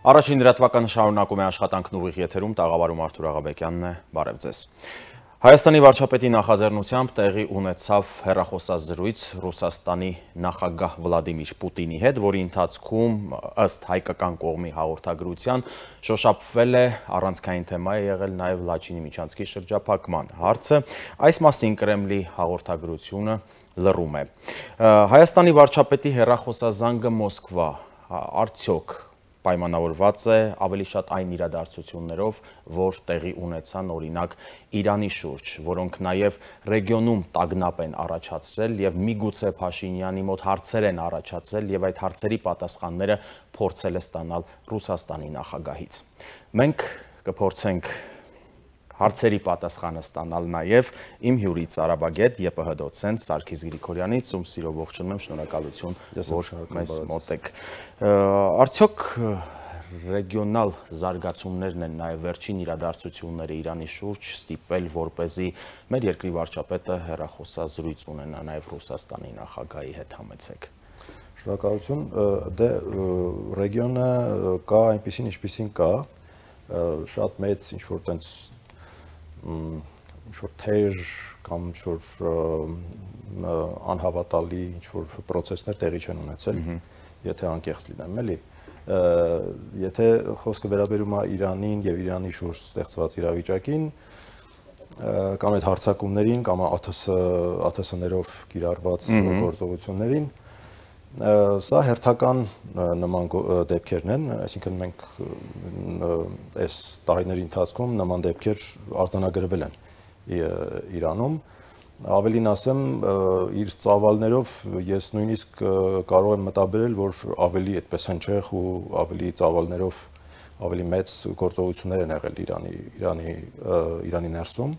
Առաջին լրատվականը շարունակում է աշխատանքն ուղիղ եթերում, տաղավարում Արթուր Աղաբեկյանն է, բարև ձեզ։ Հայաստանի վարչապետի նախաձեռնությամբ տեղի ունեցավ հեռախոսազրույց Ռուսաստանի նախագահ Վլադիմիր Պուտինի հետ, որի ընթացքում ըստ հայկական կողմի հաղորդագրության շոշափվել է առանցքային թեմա է եղել նաև Լաչինի միջանցքի շրջափակման հարցը, այս մասին Կրեմլի հաղորդագրությունը լռում է։ Հայաստանի վարչապետի հեռախոսազանգը Մոսկվա արդյոք պայմանավորված է ավելի շատ այն իրադարձություններով, որ տեղի ունեցան օրինակ Իրանի շուրջ, որոնք նաև ռեգիոնում տագնապ են առաջացրել եւ միգուցե Փաշինյանի մոտ հարցեր են առաջացել եւ այդ հարցերի պատասխանները փորձել է ստանալ Ռուսաստանի նախագահից։ Մենք կփորձենք հարցերի պատասխանը ստանալ նաև իմ հյուրից Արաբագետ ԵՊՀ դոցենտ Սարգիս Գրիգորյանից, ում սիրով ողջունում եմ, շնորհակալություն, որ մեզ մոտ եք։ Արդյոք ռեգիոնալ զարգացումներն են նաև վերջին իրադարձությունները Իրանի շուրջ ստիպել, որպեսզի մեր երկրի վարչապետը հեռախոսազրույց ունենա նաև Ռուսաստանի նախագահի հետ, համեցեք։ Շնորհակալություն, դե ռեգիոնը կա այնպեսին, ինչպեսին կա, շատ մեծ ինչ-որ տենց ինչ-որ թեժ կամ ինչ-որ անհավատալի ինչ-որ պրոցեսներ տեղի չեն ունեցել, եթե անկեղծ լինեմ, էլի։ Եթե խոսքը վերաբերում է Իրանին եւ Իրանի շուրջ ստեղծված իրավիճակին, կամ այդ հարձակումներին, կամ ԱԹՍ-ներով կիրառված գործողություններին, սա հերթական նման դեպքերն են, այսինքն մենք այս տարիների ընթացքում նման դեպքեր արձանագրվել են Իրանում, ավելին ասեմ, իր ծավալներով ես նույնիսկ կարող եմ մտաբերել, որ ավելի այդպես հնչեղ ու ավելի ծավալներով ավելի մեծ գործողություններ են եղել Իրանի ներսում,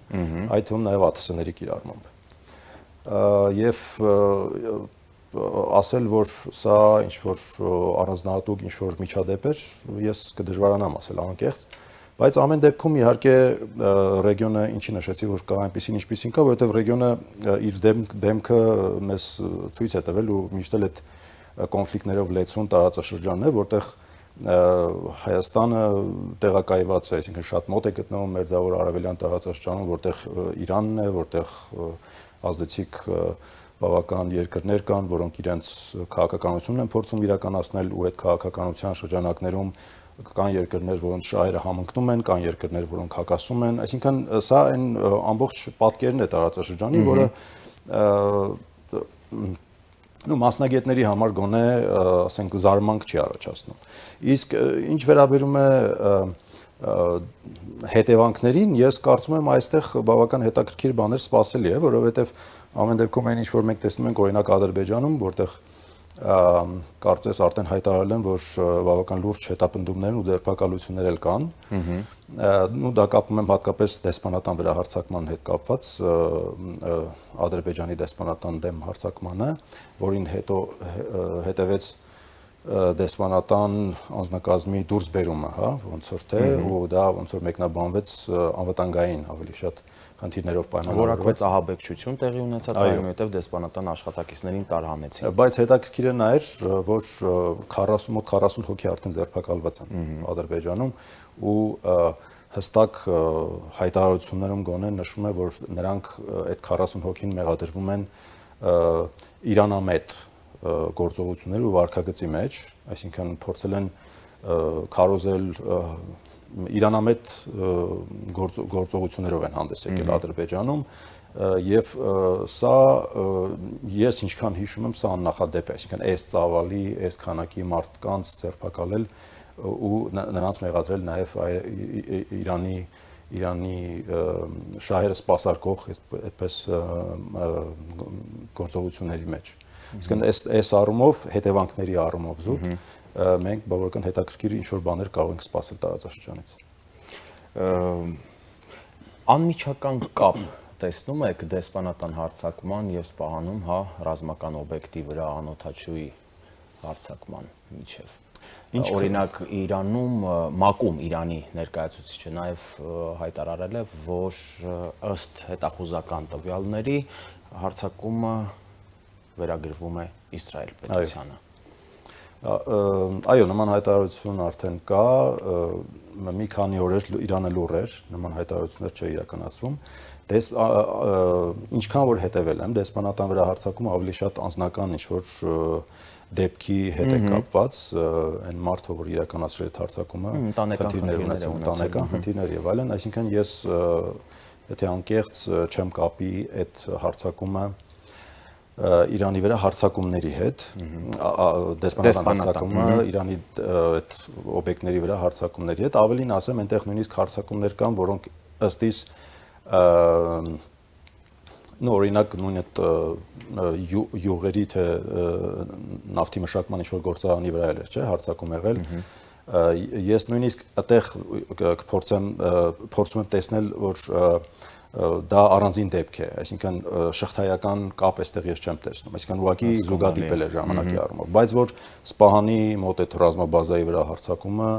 այդ թվում նաև ԱԹՍ-ների կիրառմամբ։ Եվ ասել, որ սա ինչ-որ առանձնահատուկ ինչ-որ միջադեպ էր, ես կդժվարանամ ասել անկեղծ, բայց ամեն դեպքում իհարկե ռեգիոնը ինչի նշեցի, որ կա այնպեսին ինչպեսին կա, որովհետև ռեգիոնը իր դեմքը մեզ ցույց է տվել ու միշտ էլ այդ կոնֆլիկտներով լեցուն տարածաշրջանն է, որտեղ Հայաստանը տեղակայված է, այսինքն շատ մոտ է գտնվում Մերձավոր Արևելյան տարածաշրջանում, որտեղ Իրանն է, որտեղ ազդեցիկ բավական երկրներ կան, որոնք իրենց քաղաքականությունն են փորձում իրականացնել ու այդ քաղաքականության շրջանակներում կան երկրներ, որոնց շահերը համընկնում են, կան երկրներ, որոնք հակասում են, այսինքն սա այն ամբողջ պատկերն է տարածաշրջանի, որը մասնագետների համար գոնե, ասենք, զարմանք չի առաջացնում։ Իսկ ինչ վերաբերում է հետևանքներին, ես կարծում եմ այստեղ բավական հետաքրքիր բաներ սպասելի է, որովհետև ամեն դեպքում այն ինչ որ մենք տեսնում ենք օրինակ Ադրբեջանում, որտեղ կարծես արդեն հայտարարել են, որ բավական լուրջ հետապնդումներ ու ձերբակալություններ էլ կան, դա կապում եմ հատկապես դեսպանատան վրա հարձակման հետ կապված, Ադրբեջանի դեսպանատան դեմ հարձակմանը, որին հետո հետևեց դեսպանատան անձնակազմի դուրսբերումը, հա, ոնց որ թե, ու դա ոնց որ մեկնաբանվեց անվտանգային ավելի շատ խնդիրներով պայմանավորված։ Որակվեց ահաբեկչություն տեղի ունեցած, այնուհետև դեսպանատան աշխատակիցներին տարհանեցին։ Բայց հետաքրքիրը նա էր, որ 40 հոգի արդեն ձերբակալված են Ադրբեջանում ու հստակ հայտարարություններում գոնե նշվում է, որ նրանք այդ 40 հոգին մեղադրվում են իրանամետ գործողություններ ու վարքագծի մեջ, այսինքն փորձել են քարոզել իրանամետ գործողություններով են հանդես եկել Ադրբեջանում եւ սա ես ինչքան հիշում եմ, սա աննախադեպ է, այսինքն այս ծավալի, այս քանակի մարդկանց ձերբակալել ու նրանց մեղադրել նաեւ Իրանի շահերը սպասարկող այդպես գործողությունների մեջ։ Իսկն այս առումով, հետևանքների առումով զուտ մենք բավական հետաքրքիր ինչ-որ բաներ կարող ենք սպասել տարածաշրջանից։ Անմիջական կապ տեսնում եք դեսպանատան հարձակման եւ սպահանում, հա, ռազմական օբյեկտի վրա անօթաչուի հարձակման միջև։ Օրինակ Իրանում ՄԱԿ-ում Իրանի ներկայացուցիչը նաեւ հայտարարել է, որ ըստ հետախուզական տվյալների հարձակումը վերագրվում է Իսրայել պետությանը։ Այո, նման հայտարարություն արդեն կա, մի քանի օրեր Իրանը լուռ էր, նման հայտարարություններ չէ իրականացվում։ Ինչքան որ հետևել եմ, դեսպանատան վրա հարձակումը ավելի շատ անձնական ինչ-որ դեպքի հետ է կապված, այն մարդը, որ իրականացրել է հարձակումը, խնդիրներ ունեցել, ընտանեկան խնդիրներ եւ այլն, այսինքն ես եթե անկեղծ չեմ կապի այդ հարձակումը Իրանի վրա հարձակումների հետ, դեսպանատան հարձակումը Իրանի այդ օբյեկտների վրա հարձակումների հետ, ավելին ասեմ, այնտեղ նույնիսկ հարձակումներ կան, որոնք ըստ իս օրինակ նույն այդ յուղերի թե նավթի մշակման ինչ-որ գործարանի վրա էր, չէ, հարձակում եղել, ես նույնիսկ այդտեղ փորձում եմ տեսնել, որ դա առանձին դեպք է, այսինքն շղթայական կապ այստեղ ես չեմ տեսնում, այսինքն ուղղակի զուգադիպել է ժամանակի առումով, բայց որ Սպահանի մոտ այդ ռազմաբազայի վրա հարձակումը,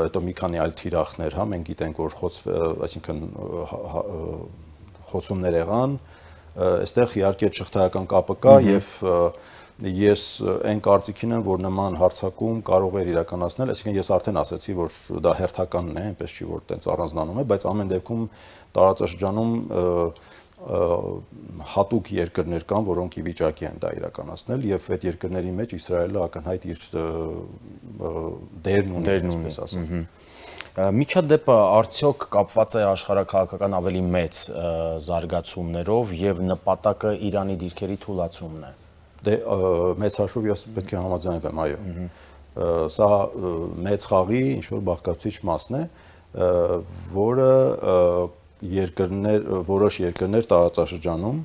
հետո մի քանի այլ թիրախներ, հա, մենք գիտենք, որ այսինքն խոցումներ եղան, այստեղ իհարկե շղթայական կապը կա եւ ես այն կարծիքին եմ, որ նման հարձակում կարող է իրականացնել, այսինքն ես արդեն ասացի, որ դա հերթականն է, այնպես չի որ տենց առանձնանում է, բայց ամեն դեպքում տարածաշրջանում հատուկ երկրներ կան, որոնք ի վիճակի են դա իրականացնել եւ այդ երկրների մեջ Իսրայելը ակնհայտ իր դերն ունի, այսպես ասեմ։ Միջադեպը արդյոք կապված է աշխարհաքաղաքական ավելի մեծ զարգացումներով եւ նպատակը Իրանի դիրքերի թուլացումն է։ Դե մեծ հաշվով ես պետք է համաձայնվեմ, այո։ Սա մեծ խաղի ինչ-որ բաղկացուցիչ մասն է, որը որոշ երկրներ տարածաշրջանում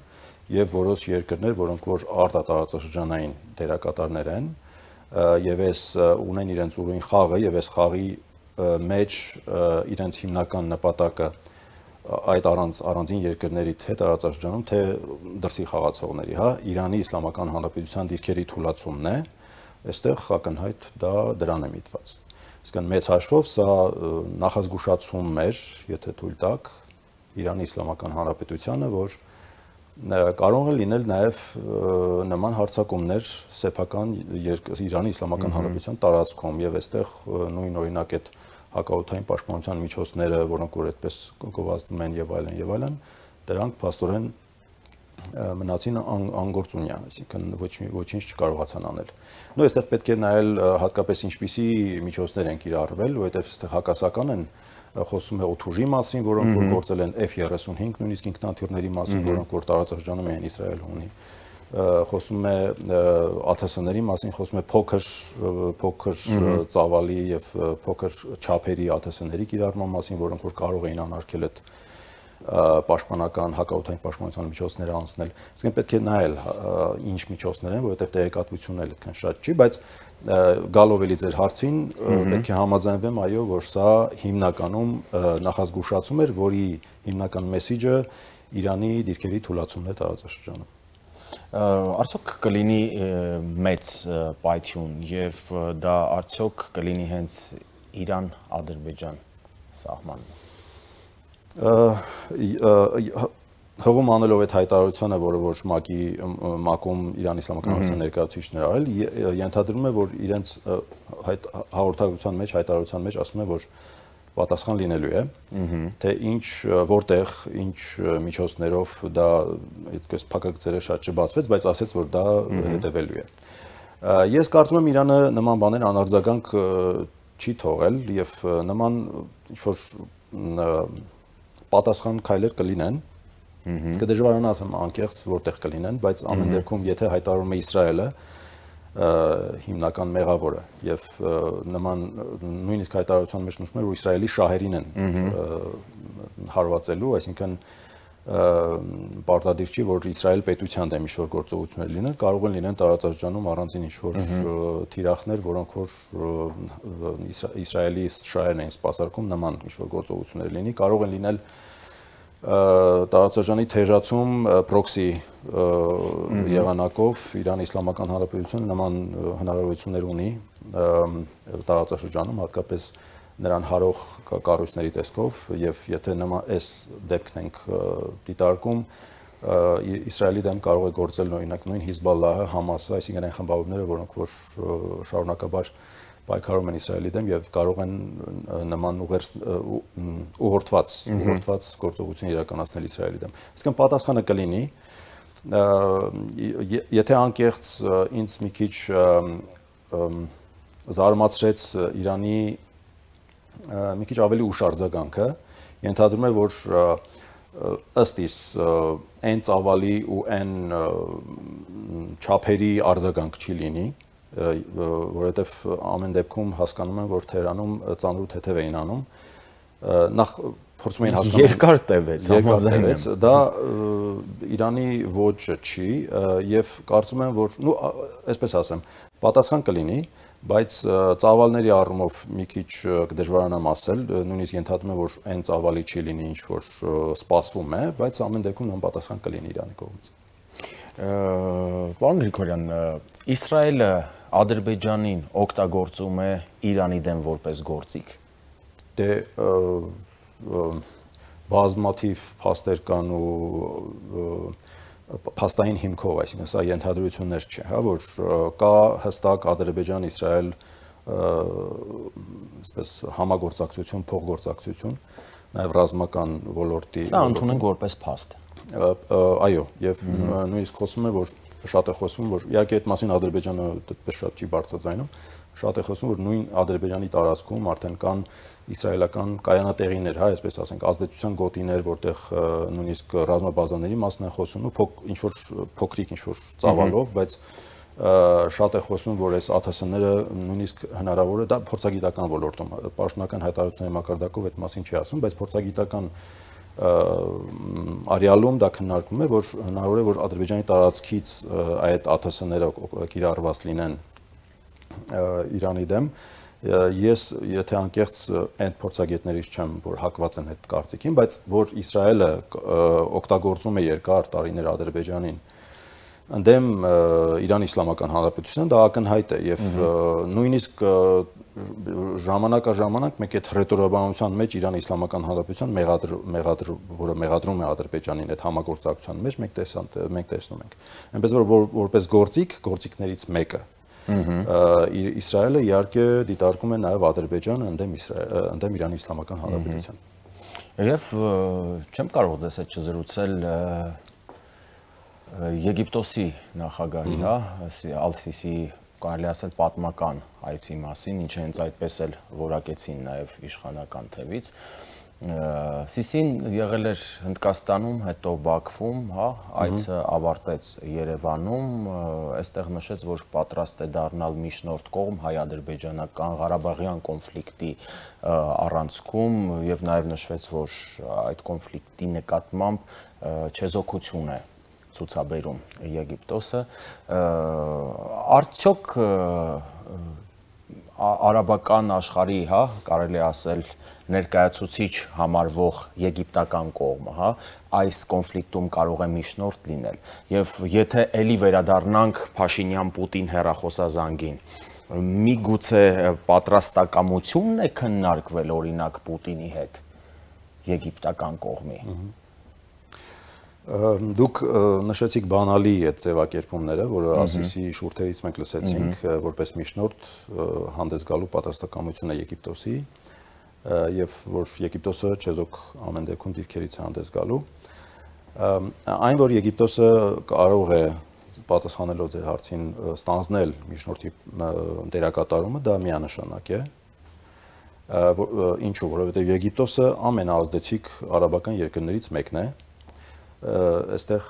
եւ որոշ երկրներ, որոնք որ արտատարածաշրջանային դերակատարներ են, եւ այս ունեն իրենց ուրույն խաղը եւ այս խաղի մեջ իրենց հիմնական նպատակը այդ առանձին երկրների թե տարածաշրջանում, թե դրսի խաղացողների, հա, Իրանի Իսլամական Հանրապետության դիրքերի թուլացումն է, այստեղ ակնհայտ դա դրան է միտված։ Իսկական մեծ հաշվով սա նախազգուշացում էր, եթե թույլ տաք, Իրանի Իսլամական Հանրապետությանը, որ կարող է լինել նաև նման հարձակումներ սեփական Իրանի Իսլամական Հանրապետության տարածքում եւ այստեղ նույն օրինակ այդ հակաօդային պաշտպանության միջոցները, որոնք որ այդպես գովազդում են եւ այլն, դրանք փաստորեն մնացին անգործունյա, այսինքն ոչինչ չկարողացան անել։ Նույն այստեղ պետք է նայել հատկապես ինչպիսի միջոցներ են կիրառվել, որովհետեւ այստեղ հակասական են խոսում է օդուժի մասին, որոնք որ գործել են F-35, նույնիսկ ինքնաթիռների մասին, որոնք որ տարածաշրջանում են Իսրայելը ունի, խոսում է ԱԹՍ-ների մասին, խոսում է փոքր ծավալի եւ փոքր չափերի ԱԹՍ-ների կիրառման մասին, որոնք որ կարող էին անարգել այդ պաշտպանական հակաօդային պաշտպանության միջոցները անցնել։ Իսկ պետք է նայել ինչ միջոցներ են, որովհետեւ տեղեկատվությունն էլ այդքան շատ չի, բայց գալով էլի ձեր հարցին պետք է համաձայնվեմ, այո, որ սա հիմնականում նախազգուշացում էր, որի հիմնական մեսիջը Իրանի դիրքերի թուլացումն է տարածաշրջանում։ Արդյոք կլինի մեծ պայթյուն եւ դա արդյոք կլինի հենց Իրան-Ադրբեջան սահմանը։ Հղում անելով այդ հայտարարությունը, որը որ ՄԱԿ-ում Իրանի Իսլամական Հանրապետության ներկայացուցիչները արել, ենթադրում է, որ իրենց հաղորդագրության մեջ, հայտարարության մեջ ասում է, որ պատասխան լինելու է, թե ինչ, որտեղ, ինչ միջոցներով դա այդպես փակագծերը շատ չբացվեց, բայց ասեց, որ դա հետևելու է։ Ես կարծում եմ Իրանը նման բաներ անարձագանք չի թողել եւ նման ինչ-որ պատասխան քայլեր կլինեն, կդժվարանա ասեմ անկեղծ որտեղ կլինեն, բայց ամեն դեպքում եթե հայտարարում է Իսրայելը հիմնական մեղավորը եւ նման նույնիսկ հայտարարության մեջ նշվում է, որ Իսրայելի շահերին են հարվածելու, այսինքն պարտադիր չի, որ Իսրայել պետության դեմ ինչ-որ գործողություններ լինեն, կարող են լինեն տարածաշրջանում առանձին ինչ-որ թիրախներ, որոնք որ Իսրայելի շահերն են սպասարկում, նման ինչ-որ գործողություններ լինի, կարող են լինել տարածաշրջանի թեժացում պրոքսի եղանակով Իրանի Իսլամական Հանրապետությունը նման հնարավորություններ ունի տարածաշրջանում, հատկապես նրան հարող կառույցների տեսքով եւ եթե նման այս դեպքն ենք դիտարկում, Իսրայելի դեմ կարող է գործել օրինակ նույն Հիզբալլահը, Համասը, այսինքն այն խմբավորումները, որոնք որ շարունակաբար պայքարում են Իսրայելի դեմ եւ կարող են նման ուղղորդված գործողություն իրականացնել Իսրայելի դեմ։ Այսինքն պատասխանը կլինի, եթե անկեղծ ինձ մի քիչ զարմացրեց Իրանի մի քիչ ավելի ուշ արձագանքը, ենթադրում է, որ ըստ իս այն ծավալի ու այն չափերի արձագանք չի լինի, որովհետև ամեն դեպքում հասկանում եմ, որ Թեհրանում ծանրու թեթև էին անում, նախ փորձում էին հասկանալ երկար տևեց, դա Իրանի ոճը չի եւ կարծում եմ, որ այսպես ասեմ, պատասխան կլինի, բայց ծավալների առումով մի քիչ կդժվարանամ ասել, նույնիսկ ենթադրում եմ, որ այն ծավալի չի լինի, ինչ որ սպասվում է, բայց ամեն դեպքում նույն պատասխան կլինի Իրանի կողմից։ Պարոն Գրիգորյան, Իսրայելը Ադրբեջանին օգտագործում է Իրանի դեմ որպես գործիք։ Դե բազմաթիվ փաստեր կան ու փաստային հիմքով, այսինքն սա ենթադրություններ չէ, հա, որ կա հստակ Ադրբեջան-Իսրայել այսպես համագործակցություն, փոխգործակցություն, նաև ռազմական ոլորտի։ Սա ընդունենք որպես փաստ։ Այո, եւ նույնիսկ խոսում է, որ շատ է խոսում, որ իհարկե այդ մասին Ադրբեջանը այդպես շատ չի բարձրաձայնում, շատ է խոսում, որ նույն Ադրբեջանի տարածքում արդեն կան իսրայելական կայանատեղիներ, հա, այսպես ասենք, ազդեցության գոտիներ, որտեղ նույնիսկ ռազմաբազաների մասն է խոսում, ու ինչ որ փոքրիկ, ինչ որ ծավալով, բայց շատ է խոսում, որ այս ԱԹՍ-ները նույնիսկ հնարավոր է, դա փորձագիտական ոլորտում, պաշտոնական հայտարարությունների մակարդակով այդ մասին չի ասում, բայց փորձագիտական արյալում դա քննարկվում է, որ հնարավոր է, որ Ադրբեջանի տարածքից այդ ԱԹՍ-ները կիրառված լինեն Իրանի դեմ։ Ես եթե անկեղծ այդ փորձագետներից չեմ, որ հակված են այդ կարծիքին, բայց որ Իսրայելը օգտագործում է երկար տարիներ Ադրբեջանին ընդդեմ Իրանի Իսլամական Հանրապետության, դա ակնհայտ է եւ նույնիսկ ժամանակ առ ժամանակ մեկ այդ ռետորաբանության մեջ Իրանի Իսլամական Հանրապետության որը մեղադրում է Ադրբեջանին այդ համագործակցության մեջ մենք տեսնում ենք։ Այնպես որ որպես գործիքներից մեկը Իսրայելը իհարկե դիտարկում է նաև Ադրբեջանը ընդդեմ Իրանի Իսլամական Հանրապետության։ Եվ չեմ կարող ձեզ հետ չզրուցել Եգիպտոսի նախագահի, հա, Ալ-Սիսիի կարելի ասել պատմական այցի մասին, ինչը հենց այդպես էլ որակեցին նաև իշխանական թևից։ Սիսին եղել էր Հնդկաստանում, հետո Բաքվում, հա, այցը ավարտեց Երևանում, այստեղ նշեց, որ պատրաստ է դառնալ միջնորդ կողմ հայ-ադրբեջանական Ղարաբաղյան կոնֆլիկտի առանցքում եւ նաև նշվեց, որ այդ կոնֆլիկտի նկատմամբ չեզոքություն է ցուցաբերում Եգիպտոսը, արդյոք արաբական աշխարհի, հա, կարելի ասել ներկայացուցիչ համարվող եգիպտական կողմը, հա, այս կոնֆլիկտում կարող է միջնորդ լինել, եւ եթե էլի վերադառնանք Փաշինյան-Պուտին հեռախոսազանգին, միգուցե պատրաստակամությունն է քննարկվել օրինակ Պուտինի հետ եգիպտական կողմի։ Դուք նշեցիք բանալի այդ ձևակերպումները, որը Ասիսի շուրթերից մենք լսեցինք, որպես միջնորդ հանդես գալու պատրաստակամություն է Եգիպտոսի, եւ որ Եգիպտոսը չեզոք ամեն դեպքում դիրքերից է հանդես գալու։ Այն, որ Եգիպտոսը կարող է պատասխանելով ձեր հարցին ստանձնել միջնորդի դերակատարումը, դա միանշանակ է։ Ինչու, որովհետեւ Եգիպտոսը ամենաազդեցիկ արաբական երկրներից մեկն է։ Այստեղ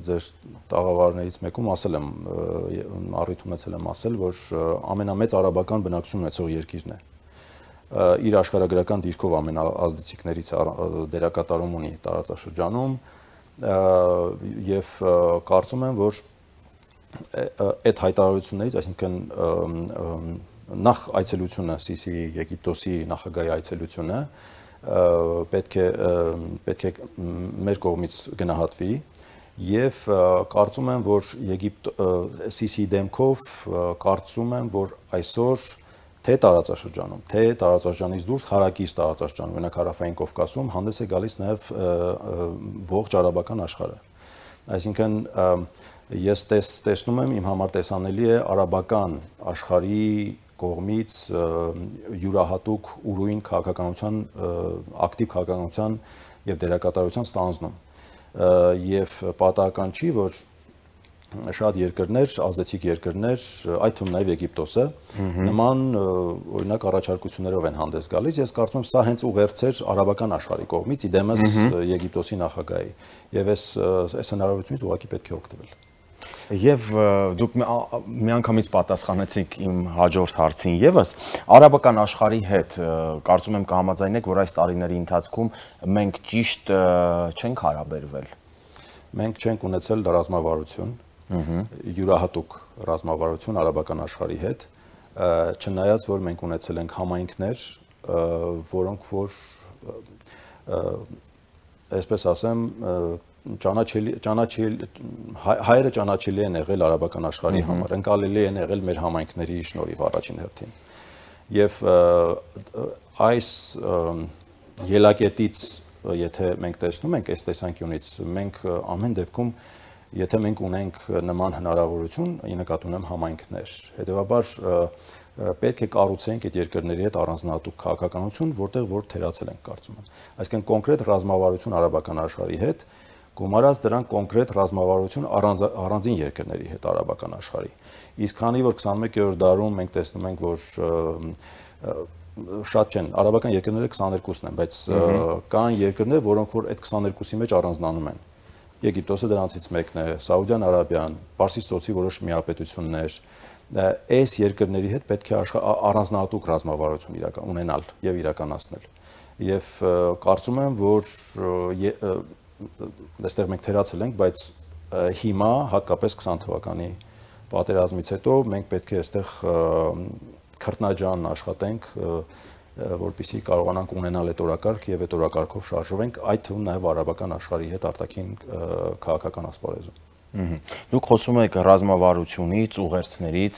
ձեր տաղավարներից մեկում ասել եմ, առիթ ունեցել եմ ասել, որ ամենամեծ արաբական բնակչություն ունեցող երկիրն է։ Իր աշխարհագրական դիրքով ամենաազդեցիկներից դերակատարում ունի տարածաշրջանում եւ կարծում եմ, որ այդ հայտարարություններից, այսինքն նախ այցելությունը Սիսիի Եգիպտոսի նախագահի այցելությունը պետք է մեր կողմից գնահատվի եւ կարծում եմ, որ Սիսիի դեմքով կարծում եմ, որ այսօր թե տարածաշրջանում, թե տարածաշրջանից դուրս հարակից տարածաշրջանում, օրինակ Հարավային Կովկասում հանդես է գալիս նաեւ ողջ արաբական աշխարհը։ Այսինքն ես տեսնում եմ, իմ համար տեսանելի է արաբական աշխարհի կողմից յուրահատուկ ուրույն քաղաքականության, ակտիվ քաղաքականության եւ դերակատարության ստանձնում։ Եվ պատահական չի, որ շատ երկրներ, ազդեցիկ երկրներ, այդ թվում նաև Եգիպտոսը, նման օրինակ առաջարկություններով են հանդես գալիս։ Ես կարծում եմ, սա հենց ուղերձեր արաբական աշխարհի կողմից, իդեմս Եգիպտոսի նախագահի։ Եվ այս հնարավորությունից ուղղակի պետք է օգտվել։ Եվ դուք միանգամից պատասխանեցիք իմ հաջորդ հարցին եւս, արաբական աշխարհի հետ կարծում եմ կհամաձայնեք, որ այս տարիների ընթացքում մենք ճիշտ չենք հարաբերվել։ Մենք չենք ունեցել ռազմավարություն, յուրահատուկ ռազմավարություն արաբական աշխարհի հետ, չնայած որ մենք ունեցել ենք համայնքներ, որոնք որ այսպես ասեմ, հայերը ճանաչելի են եղել արաբական աշխարհի համար, ընկալելի են եղել մեր համայնքների շնորհիվ առաջին հերթին։ Եվ այս ելակետից, եթե մենք տեսնում ենք այս տեսանկյունից, մենք ամեն դեպքում, եթե մենք ունենք նման հնարավորություն, ի նկատի ունեմ համայնքներ, հետևաբար պետք է կառուցենք այդ երկրների հետ առանձնահատուկ քաղաքականություն, որտեղ որ թերացել ենք կարծում եմ։ Այսինքն կոնկրետ ռազմավարություն արաբական աշխարհի հետ, գումարած դրան կոնկրետ ռազմավարություն առանձին երկրների հետ արաբական աշխարհի։ Իսկ քանի որ 21-րդ դարում մենք տեսնում ենք, որ շատ չեն, արաբական երկրները 22-ն են, բայց կան երկրներ, որոնք որ այդ 22-ի մեջ առանձնանում են։ Եգիպտոսը դրանցից մեկն է, Սաուդյան Արաբիան, Պարսից ծոցի որոշ միապետություններ, այս երկրների հետ պետք է առանձնահատուկ ռազմավարություն ունենալ եւ իրականացնել։ Եվ կարծում եմ, որ այստեղ մենք թերացել ենք, բայց հիմա հատկապես 20 թվականի պատերազմից հետո մենք պետք է այստեղ քրտնաջան աշխատենք, որպեսզի կարողանանք ունենալ այդ օրակարգ եւ այդ օրակարգով շարժվենք, այդ թվում նաեւ արաբական աշխարհի հետ արտաքին քաղաքական ասպարեզում։ Դուք խոսում եք ռազմավարությունից, ուղերձներից,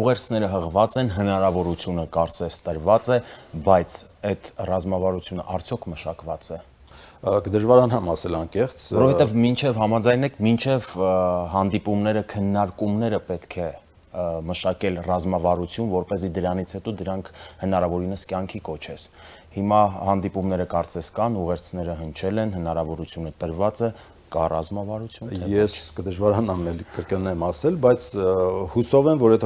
ուղերձները հղված են, հնարավորությունը կարծես տրված է, բայց այդ ռազմավարությունը արդյոք մշակված է։ Կդժվարանամ ասել անկեղծ, որովհետև մինչև համաձայնեք, մինչև հանդիպումները, քննարկումները պետք է մշակել ռազմավարություն, որպեսզի դրանից հետո դրանք հնարավորինս կյանքի կոչես։ Հիմա հանդիպումները կարծես կան, ուղերձները հնչել են, հնարավորությունը տրված է, կա ռազմավարություն։ Ես կդժվարանամ էլի կրկնեմ ասել, բայց հուսով եմ, որ այդ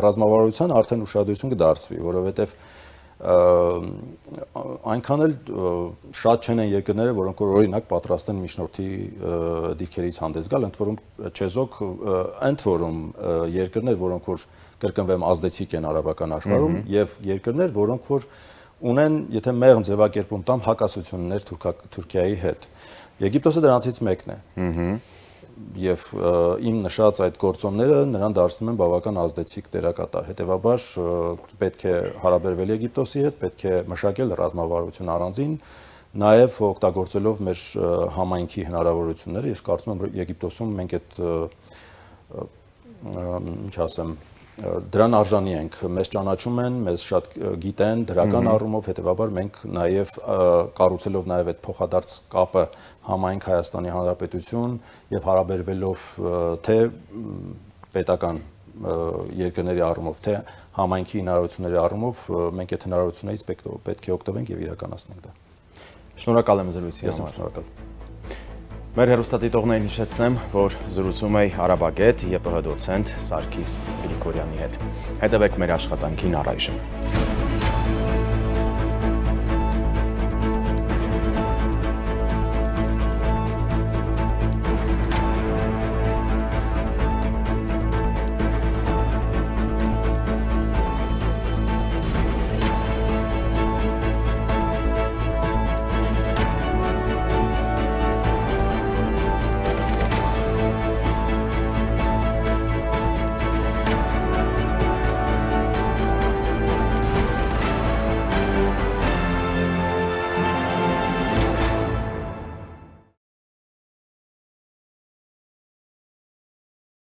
ռազմավարության արդեն ուշադրություն կդարձվի, որովհետև այնքան էլ շատ չեն են երկրները, որոնք որ օրինակ պատրաստ են միջնորդի դիրքերից հանդես գալ, ընդ որում երկրներ, որոնք որ կրկնվեմ ազդեցիկ են արաբական աշխարհում եւ երկրներ, որոնք որ ունեն, եթե մեղմ ձևակերպում տամ, հակասություններ Թուրքիայի հետ։ Եգիպտոսը դրանցից մեկն է։ Եվ իմ նշած այդ գործոնները նրան դարձնում են բավական ազդեցիկ դերակատար։ Հետևաբար պետք է հարաբերվել Եգիպտոսի հետ, պետք է մշակել ռազմավարություն առանձին, նաև օգտագործելով մեր համայնքի հնարավորությունները, ես կարծում եմ Եգիպտոսում մենք այդ ինչ ասեմ, դրան արժանի ենք, մեզ ճանաչում են, մեզ շատ գիտեն դրական առումով, հետևաբար մենք նաև կառուցելով նաև այդ փոխադարձ կապը համայնք Հայաստանի Հանրապետություն եւ հարաբերվելով թե պետական երկրների առումով, թե համայնքի հնարավորությունների առումով, մենք այդ հնարավորություններից պետք է օգտվենք եւ իրականացնենք դա։ Շնորհակալ եմ զրույցի համար։ Ես եմ շնորհակալ։ Մեր հեռուստադիտողներին հիշեցնեմ, որ զրուցում էի արաբագետ ԵՊՀ դոցենտ Սարգիս Գրիգորյանի հետ։ Հետևեք մեր աշխատանքին առայժմ։